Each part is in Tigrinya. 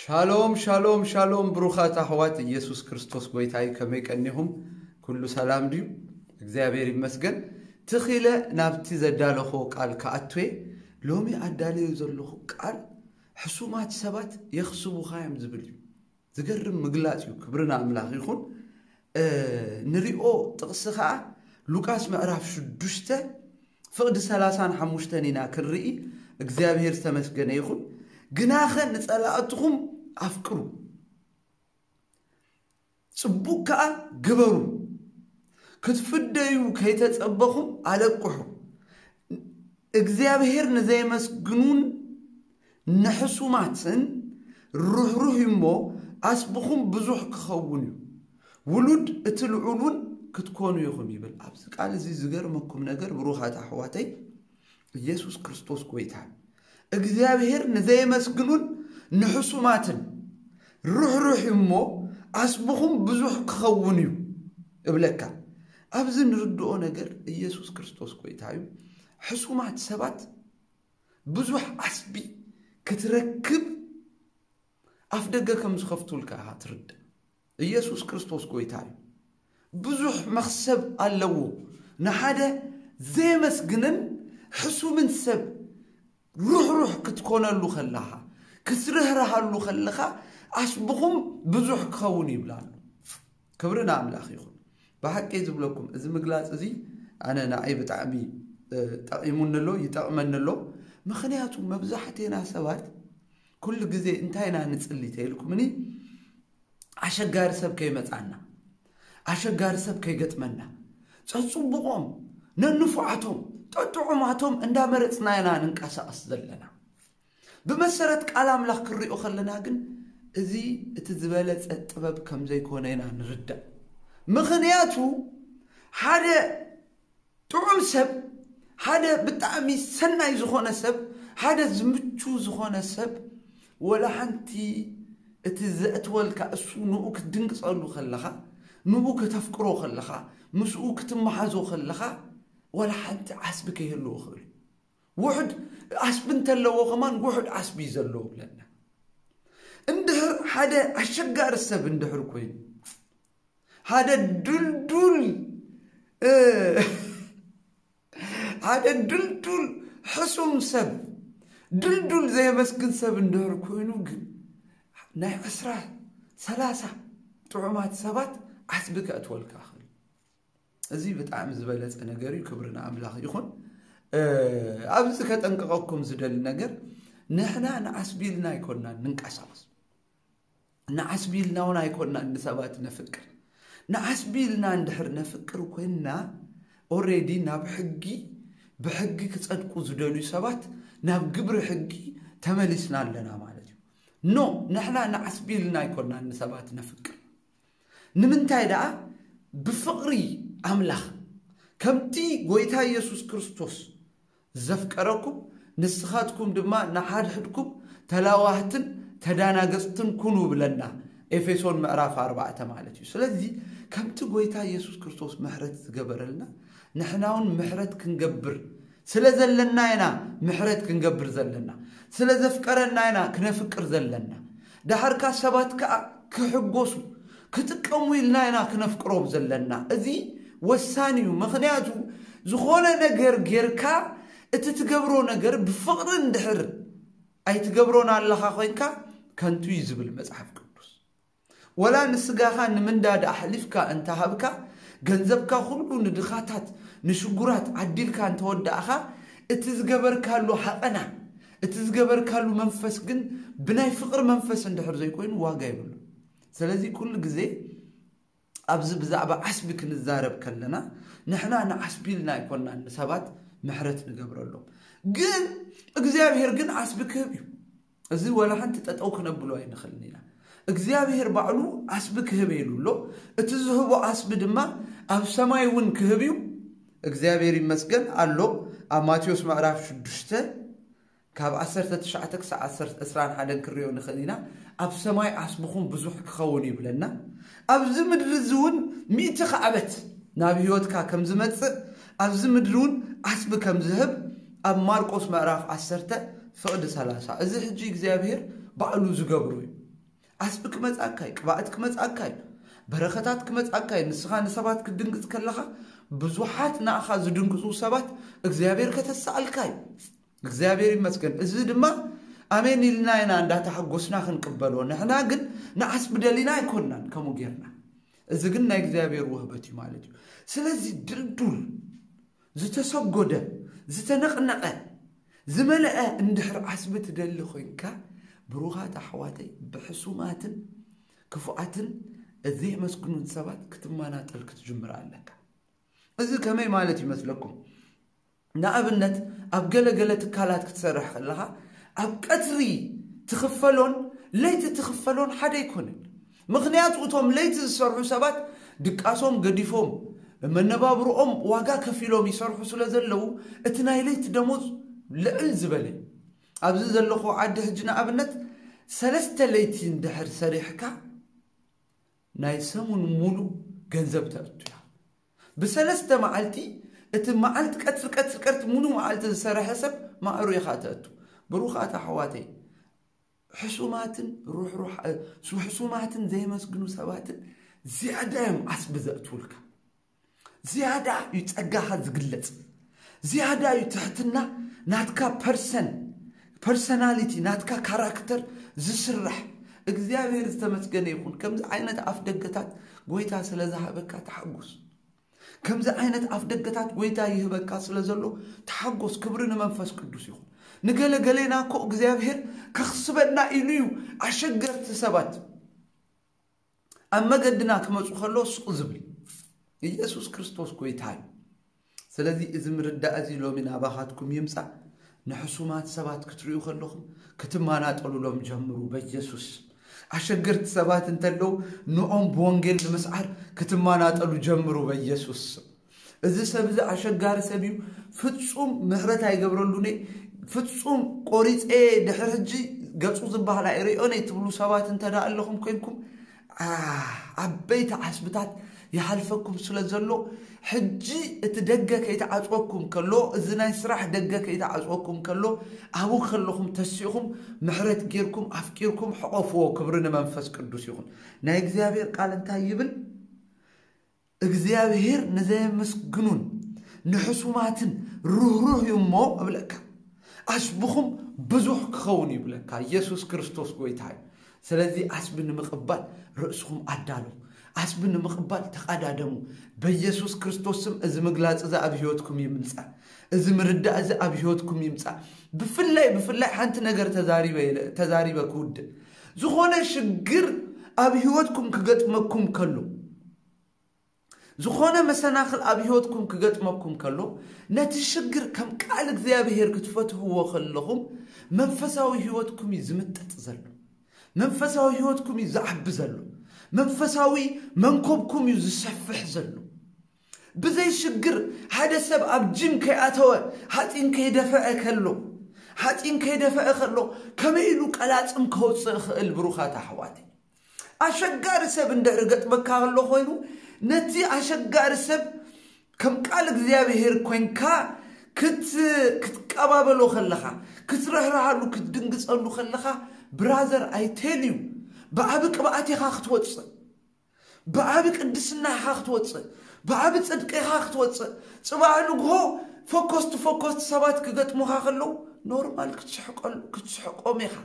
ሻሎም ሻሎም ሻሎም፣ ብሩኻት ኣሕዋት፣ ኢየሱስ ክርስቶስ ጎይታ እዩ። ከመይ ቀኒኹም? ኩሉ ሰላም ድዩ? እግዚኣብሔር ይመስገን። ትኺለ ናብቲ ዘዳለኾ ቃል ክኣትዌ፣ ሎሚ ኣዳለዮ ዘለኹ ቃል ሕሱማት ሰባት የኽስቡኻ እዮም ዝብል እዩ። ዝገርም ምግላጽ እዩ። ክብሪ ንኣምላኽ ይኹን። ንሪኦ ጥቕሲ ኸዓ ሉቃስ ምዕራፍ ሽዱሽተ ፍቕዲ ሰላሳን ሓሙሽተን ኢና ክንርኢ። እግዚኣብሔር ዝተመስገነ ይኹን። ግናኸ ንጸላእትኹም ኣፍቅሩ፣ ጽቡቕ ከኣ ግበሩ፣ ክትፍደዩ ከይተጸበኹም ኣለቅሑ። እግዚኣብሔር ንዘየመስግኑን ንሕሱማትን ርህሩህ እሞ ኣስብኹም ብዙሕ ክኸውን እዩ፣ ውሉድ እቲ ልዑል እውን ክትኮኑ ኢኹም ይብል። ኣብዚ ቃል እዚ ዝገርመኩም ነገር ብሩኻት ኣሕዋተይ፣ ኢየሱስ ክርስቶስ ጎይታ እግዚኣብሔር ንዘየመስግኑን ንሕሱማትን ርህሩህ እሞ ኣስብኹም ብዙሕ ክኸውን እዩ እብለካ። ኣብዚ ንርድኦ ነገር ኢየሱስ ክርስቶስ ጎይታ እዩ። ሕሱማት ሰባት ብዙሕ ዓስቢ ክትረክብ ኣፍ ደገ ከም ዝኸፍቱልካ ኢኻ ትርዳእ። ኢየሱስ ክርስቶስ ጎይታ እዩ። ብዙሕ መኽሰብ ኣለዎ። ንሓደ ዘየመስግንን ሕሱምን ሰብ ርህሩህ ክትኮነሉ ከለኻ፣ ክትርህርሃሉ ከለኻ ኣስብኹም ብዙሕ ክኸውን ይብላሉ። ክብሪ ንኣምላኽ ይኹን። ብሓቂ ዝብለኩም እዚ ምግላጽ እዚ ኣነ ንዓይ ብጣዕሚ ጠቒሙኒ ኣሎ፣ ይጠቕመኒ ኣሎ። ምኽንያቱ መብዛሕቴና ሰባት ኩሉ ግዜ እንታይ ኢና ንጽሊ ተይልኩምኒ፣ ኣሸጋሪ ሰብ ከይመጻና፣ ኣሸጋሪ ሰብ ከይገጥመና፣ ጸጽቡቖም ነንፉዓቶም ጠጥዑማቶም እንዳመረጽና ኢና ንንቀሳቐስ ዘለና። ብመሰረት ቃል ኣምላኽ ክንሪኦ ከለና ግን እዚ እቲ ዝበለጸ ጥበብ ከም ዘይኮነ ኢና ንርዳእ። ምኽንያቱ ሓደ ጥዑም ሰብ፣ ሓደ ብጣዕሚ ሰናይ ዝኾነ ሰብ፣ ሓደ ዝምቹ ዝኾነ ሰብ፣ ወላ ሓንቲ እቲ ዘእትወልካ እሱ ንኡ ክትድንግጸሉ ከለኻ፣ ንኡ ከተፍቅሮ ከለኻ፣ ምስኡ ክትመሓዞ ከለኻ፣ ወላ ሓንቲ ዓስቢ ከይህልዎ ክእል። ውሑድ ዓስቢ እንተለዎ ከማን ውሑድ ዓስቢ እዩ ዘለዎ ብለና። እንድሕር ሓደ ኣሸጋሪ ሰብ እንድሕር ኮይኑ፣ ሓደ ድልዱል ሓደ ድልዱል ሕሱም ሰብ፣ ድልዱል ዘየመስግን ሰብ እንድሕር ኮይኑ ግን ናይ ዕስራ ሰላሳ ጥዑማት ሰባት ዓስቢ ከእትወልካ ይኽእል። እዚ ብጣዕሚ ዝበለጸ ነገር እዩ። ክብሪ ንኣምላኽ ይኹን። ኣብዚ ከጠንቅቐኩም ዝደሊ ነገር፣ ንሕና ንዓስቢ ኢልና ኣይኮንና ንንቀሳቐስ። ንዓስቢ ኢልና እውን ኣይኮንና ንሰባት ነፍቅር። ንዓስቢ ኢልና እንድሕር ነፍቅር ኮይንና፣ ኦሬዲ ናብ ሕጊ፣ ብሕጊ ክጸድቁ ዝደልዩ ሰባት ናብ ግብሪ ሕጊ ተመሊስና ኣለና ማለት እዩ። ኖ፣ ንሕና ንዓስቢ ኢልና ኣይኮንና ንሰባት ነፍቅር። ንምንታይ ደኣ? ብፍቕሪ ኣምላኽ፣ ከምቲ ጎይታ ኢየሱስ ክርስቶስ ዘፍቀረኩም፣ ንስኻትኩም ድማ ንሓድሕድኩም ተላዋህትን ተዳናገጽትን ኩኑ ብለና። ኤፌሶን ምዕራፍ ኣርባዕተ ማለት እዩ። ስለዚ ከምቲ ጎይታ ኢየሱስ ክርስቶስ ምሕረት ዝገበረልና፣ ንሕና እውን ምሕረት ክንገብር ስለ ዘለና ኢና ምሕረት ክንገብር ዘለና። ስለ ዘፍቀረና ኢና ክነፍቅር ዘለና። ደሓርካ ሰባት ከኣ ክሕጎሱ፣ ክጥቀሙ ኢልና ኢና ክነፍቅሮም ዘለና። እዚ ወሳኒ እዩ። ምኽንያቱ ዝኾነ ነገር ጌርካ እቲ ትገብሮ ነገር ብፍቕሪ እንድሕር ኣይትገብሮን ኣለኻ ኮይንካ ከንቱ እዩ ዝብል መጽሓፍ ቅዱስ። ወላ ንስጋኻ ንምንዳድ ኣሕሊፍካ እንተሃብካ፣ ገንዘብካ ኩሉ ንድኻታት፣ ንሽጉራት ዓዲልካ እንተወዳእኻ፣ እቲ ዝገበርካሉ ሃቐና፣ እቲ ዝገበርካሉ መንፈስ ግን ብናይ ፍቕሪ መንፈስ እንድሕር ዘይኮይኑ ዋጋ የብሉ። ስለዚ ኩሉ ግዜ ኣብዚ ብዛዕባ ዓስቢ ክንዛረብ ከለና፣ ንሕና ንዓስቢ ኢልና ኣይኮንና ንሰባት ምሕረት ንገብረሎም። ግን እግዚኣብሔር ግን ዓስቢ ክህብ እዩ። እዚ ወላ ሓንቲ ጠጠው ክነብሎ ኣይንኽእልን ኢና። እግዚኣብሔር ባዕሉ ዓስቢ ክህብ ኢሉ ኣሎ። እቲ ዝህቦ ዓስቢ ድማ ኣብ ሰማይ እውን ክህብ እዩ። እግዚኣብሔር ይመስገን ኣሎ። ኣብ ማቴዎስ ምዕራፍ ሽዱሽተ ካብ ዓሰርተ ትሽዓተ ክሳብ ዓሰርተ፣ ዕስራን ሓደን ክንሪኦ ንኽእል ኢና። ኣብ ሰማይ ዓስብኹም ብዙሕ ክኸውን ይብለና። ኣብዚ ምድሪ እዚ እውን ሚእቲ ክዓበት ናብ ህይወትካ ከም ዝመጽእ፣ ኣብዚ ምድሪ እውን ዓስቢ ከም ዝህብ ኣብ ማርቆስ ምዕራፍ ዓሰርተ ፍቕዲ ሰላሳ። እዚ ሕጂ እግዚኣብሔር ባዕሉ ዝገብሩ እዩ። ዓስቢ ክመጻካ እዩ፣ ቅብኣት ክመጻካ እዩ፣ በረኸታት ክመጻካ እዩ። ንስኻ ንሰባት ክትድንግጽ ከለኻ፣ ብዙሓት ንኣኻ ዝድንግጹ ሰባት እግዚኣብሔር ከተሰኣልካ እዩ። እግዚኣብሔር ይመስገን። እዚ ድማ ኣሜን ኢልና ኢና እንዳተሓጎስና ክንቅበሎ። ንሕና ግን ንዓስቢ ደሊና ኣይኮንናን ከምኡ ጌርና። እዚ ግን ናይ እግዚኣብሔር ውህበት እዩ ማለት እዩ። ስለዚ ድልዱል፣ ዝተሰጎደ፣ ዝተነቕነቐ፣ ዝመልአ እንድሕር ዓስቢ ትደሊ ኮይንካ፣ ብሩኻት ኣሕዋተይ፣ ብሕሱማትን ክፉኣትን፣ ዘይመስግኑን ሰባት ክትመናጠል ክትጅምር ኣለካ። እዚ ከመይ ማለት ይመስለኩም? ንኣብነት፣ ኣብ ገለ ገለ ትካላት ክትሰርሕ ከለኻ፣ ኣብ ቀትሪ ትኽፈሎን ለይቲ ትኽፈሎን ሓደ ኣይኮነን። ምኽንያቱ፣ እቶም ለይቲ ዝሰርሑ ሰባት ድቃሶም ገዲፎም፣ መነባብርኦም ዋጋ ከፊሎም ይሰርሑ ስለ ዘለዉ፣ እቲ ናይ ለይቲ ደሞዝ ልዕል ዝበለ እዩ። ኣብዚ ዘለኹ ዓዲ ሕጂ ንኣብነት፣ ሰለስተ ለይቲ እንድሕር ሰሪሕካ፣ ናይ ሰሙን ሙሉ ገንዘብ ተእቱ እያ። ብሰለስተ መዓልቲ፣ እቲ መዓልቲ ቀትሪ፣ ቀትሪ፣ ቀትሪ፣ ሙሉ መዓልቲ ዝሰረሐ ሰብ ማዕሩ ኢኻ ተእቱ። ብሩኻት ኣሕዋተይ፣ ሕሱማትን ሩሕሩሕ-፣ እ፣ ሱ-፣ ሕሱማትን ዘየመስግኑ ሰባትን ዝያዳ እዮም ዓስቢ ዘእትውልካ። ዝያዳ እዩ ጸጋኻ ዝግለጽ። ዝያዳ እዩ ትሕትና ናትካ ፐርሰን፣ ፐርሰናሊቲ ናትካ ካራክተር ዝስራሕ። እግዚኣብሔር ዝተመስገነ ይኹን። ከምዚ ዓይነት ኣፍ ደገታት ጎይታ ስለ ዝሃበካ ተሓጎስ። ከምዚ ዓይነት ኣፍ ደገታት ጎይታ ይህበካ ስለ ዘሎ ተሓጎስ። ክብሪ ንመንፈስ ቅዱስ ይኹን። ንገለ ገሌና እኮ እግዚኣብሔር ከኽስበና ኢሉ እዩ ኣሸገርቲ ሰባት ኣብ መገድና ክመጹ ከሎ ሱቕ ዝብል። ኢየሱስ ክርስቶስ ጎይታ እዩ። ስለዚ እዚ ምርዳእ እዚ ሎሚ ናባኻትኩም ይምጻእ። ንሕሱማት ሰባት ክትርእዩ ከለኹም ክትመናጠሉሎም ጀምሩ በኢየሱስ። ኣሸገርቲ ሰባት እንተለዉ ንኦም ብወንጌል ንምስዓር ክትመናጠሉ ጀምሩ በኢየሱስ። እዚ ሰብ እዚ ኣሸጋሪ ሰብ እዩ፣ ፍጹም ምሕረት ኣይገብረሉን እየ፣ ፍጹም ቆሪጸ ድሕሪ ሕጂ ገጹ ዝበሃል ኣይርእዮን እየ ትብሉ ሰባት እንተ ደኣ ኣለኹም ኮይንኩም፣ ዓ-፣ ዓበይቲ ዓስብታት ይሓልፈኩም ስለ ዘሎ፣ ሕጂ እቲ ደገ ከይተዓጽወኩም ከሎ፣ እዚ ናይ ስራሕ ደገ ከይተዓጽወኩም ከሎ፣ ኣብኡ ከለኹም ተሲእኹም ምሕረት ጌርኩም ኣፍቂርኩም ሕቆፍዎ። ክብሪ ንመንፈስ ቅዱስ ይኹን። ናይ እግዚኣብሔር ቃል እንታይ ይብል? እግዚኣብሔር ንዘየመስግኑን ንሕሱማትን ርህሩህ እዩ እሞ እብለካ፣ ዓስብኹም ብዙሕ ክኸውን እዩ ይብለካ። ኢየሱስ ክርስቶስ ጎይታ እዩ። ስለዚ ዓስቢ ንምቕባል ርእስኹም ኣዳልዉ። ዓስቢ ንምቕባል ተቓዳደሙ። በኢየሱስ ክርስቶስ ስም እዚ ምግላጽ እዚ ኣብ ህይወትኩም ይምጻእ። እዚ ምርዳእ እዚ ኣብ ህይወትኩም ይምጻእ። ብፍላይ፣ ብፍላይ ሓንቲ ነገር ተዛሪበ ኢለ፣ ተዛሪበ ክውድእ። ዝኾነ ሽግር ኣብ ህይወትኩም ክገጥመኩም ከሎ፣ ዝኾነ መሰናኽል ኣብ ህይወትኩም ክገጥመኩም ከሎ፣ ነቲ ሽግር ከም ቃል እግዚኣብሔር ክትፈትሕዎ ከለኹም፣ መንፈሳዊ ህይወትኩም እዩ ዝምጠጥ ዘሎ። መንፈሳዊ ህይወትኩም እዩ ዝዓቢ ዘሎ። መንፈሳዊ መንኮብኩም እዩ ዝሰፍሕ ዘሎ። ብዘይ ሽግር ሓደ ሰብ ኣብ ጂም ከይኣተወ፣ ሓፂን ከይደፈዐ ከሎ፣ ሓፂን ከይደፈዐ ከሎ፣ ከመይ ኢሉ ቀላፅም ከውፅእ ይኽእል? ብሩኻት ኣሕዋተይ፣ ኣሸጋሪ ሰብ እንድሕር ገጥመካ ከሎ ኮይኑ፣ ነቲ ኣሸጋሪ ሰብ ከም ቃል እግዚኣብሔር ኮይንካ ክት-፣ ክትቀባበሎ ከለኻ፣ ክትርህርሃሉ፣ ክትድንግጸሉ ከለኻ፣ ብራዘር፣ ኣይቴል እዩ፣ ብዓቢ ቅብኣት ኢኻ ክትወጽእ፣ ብዓቢ ቅድስና ኢኻ ክትወጽእ፣ ብዓቢ ጽድቂ ኢኻ ክትወጽእ። ጽባሕ ንግሆ ፈኮስቲ ፈኮስቲ ሰባት ክገጥሙኻ ከለዉ፣ ኖርማል ክትስሕቀሉ፣ ክትስሕቆም ኢኻ።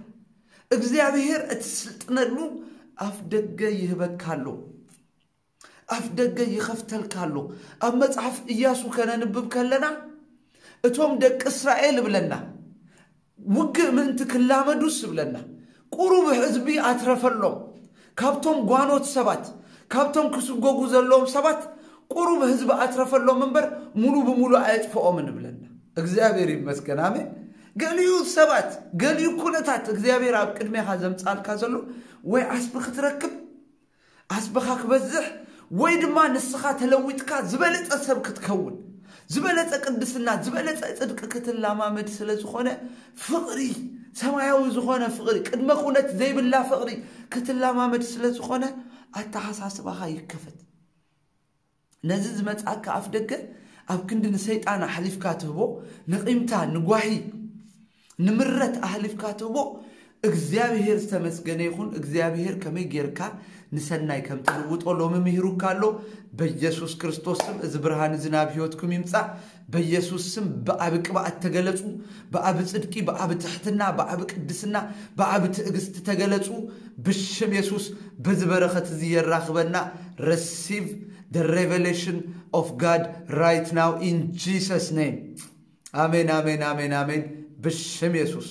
እግዚኣብሔር እትስልጥነሉ ኣፍ ደገ ይህበካ ኣሎ። ኣፍ ደገ ይኸፍተልካ ኣሎ። ኣብ መጽሓፍ ኢያሱ ከነንብብ ከለና፣ እቶም ደቂ እስራኤል እብለና፣ ውግእ ምእንቲ ክላመዱስ እብለና፣ ቁሩብ ህዝቢ ኣትረፈሎም። ካብቶም ጓኖት ሰባት፣ ካብቶም ክስጎጉ ዘለዎም ሰባት፣ ቁሩብ ህዝቢ ኣትረፈሎም እምበር፣ ሙሉ ብሙሉ ኣየጥፍኦምን እብለና። እግዚኣብሔር ይመስገን። ኣሜን። ገሊኡ ሰባት፣ ገሊኡ ኩነታት እግዚኣብሔር ኣብ ቅድሜኻ ዘምጻልካ ዘሎ፣ ወይ ዓስቢ ክትረክብ፣ ዓስብኻ ክበዝሕ፣ ወይ ድማ ንስኻ ተለዊጥካ ዝበለጸ ሰብ ክትከውን፣ ዝበለጸ ቅድስና፣ ዝበለጸ ጽድቂ ክትለማመድ ስለ ዝኾነ፣ ፍቕሪ፣ ሰማያዊ ዝኾነ ፍቕሪ፣ ቅድመ ኩነት ዘይብላ ፍቕሪ ክትለማመድ ስለ ዝኾነ፣ ኣተሓሳስባኻ ይከፈት። ነዚ ዝመጽኣካ ኣፍ ደገ ኣብ ክንዲ ንሰይጣን ኣሕሊፍካ ትህቦ፣ ንቂምታ፣ ንጓሂ፣ ንምረት ኣሕሊፍካ ትህቦ፣ እግዚኣብሔር ዝተመስገነ ይኹን። እግዚኣብሔር ከመይ ጌርካ ንሰናይ ከም ትልውጦ ሎሚ ምሂሩካ ኣሎ። በኢየሱስ ክርስቶስ ስም እዚ ብርሃን እዚ ናብ ህይወትኩም ይምጻእ። በኢየሱስ ስም ብዓቢ ቅብኣት ተገለጹ። ብዓቢ ጽድቂ፣ ብዓቢ ትሕትና፣ ብዓቢ ቅድስና፣ ብዓቢ ትዕግስቲ ተገለጹ። ብሽም የሱስ በዚ በረኸት እዚ የራኽበና። Receive the revelation of God right now in Jesus name. ኣሜን፣ ኣሜን፣ ኣሜን፣ ኣሜን። ብሽም የሱስ